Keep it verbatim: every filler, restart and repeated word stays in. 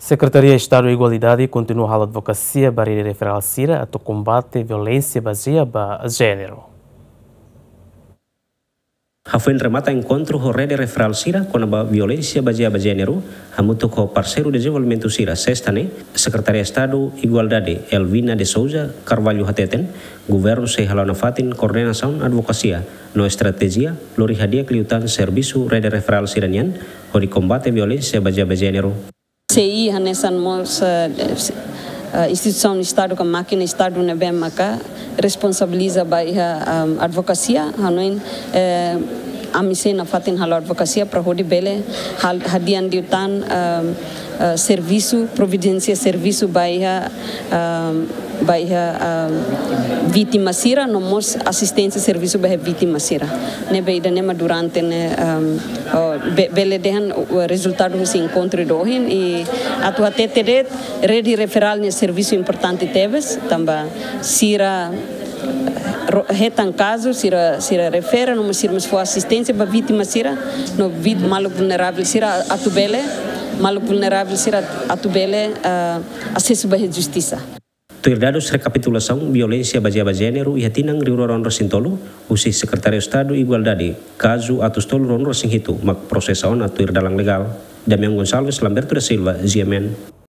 Sekretaria Estadu Igualdade kontinua halo advokasia ba rede referál sira atu kombate violénsia bazeia ba jéneru. Hafoin remata enkontru ho rede referál sira kona-ba violénsia bazeia ba jéneru, hamutuk ho parseiru dezenvolvimentu sira, sesta ne'e, Sekretaria Estadu Igualdade, Elvina de Souza Carvalho, hateten, governu sei hala'o nafatin koordenasaun advokasia no estratéjia, lori hadi'a liután servisu rede referál sira-nian, hodi kombate violénsia bazeia ba jéneru. C I hanesan mós, eh, eh, instituisaun Estadu ka mákina Estadu ne'ebé maka responsabiliza ba iha, ehm, advokasia, hanoin, eh, ami sei nafatin halo advokasia para hodi bele hal-, hadi'a liután, ehm, eh, servisu, providénsia servisu ba iha, ehm, ba iha, ehm, vítima sira, no mós asisténsia servisu ba iha vítima sira. Ne'ebé ida-ne'e mak durante ne'e, ehm, oh, be-, bele dehan, uh, rezultadu husi enkontru ida ohin, i atu hatete de'it, rede referál ne'e servisu importante tebes, tanba sira ro-, hetan kazu, sira, sira refere, no mós sira mós fó asisténsia ba vítima sira, no vít-, maluk vulneravel sira atu bele, maluk vulneravel sira atu bele, ah, asesu ba iha justisa. Tuir dadus rekapitulasaun violénsia bazeia ba jéneru iha tinan rihun rua ruanulu-resin-tolu, husi Sekretaria Estadu Igualdade, kazu atus tolu ruanulu-resin-hitu mak prosesa ona tuir dalan legál. Damian Gonçalves, Lamberto da Silva, G M N.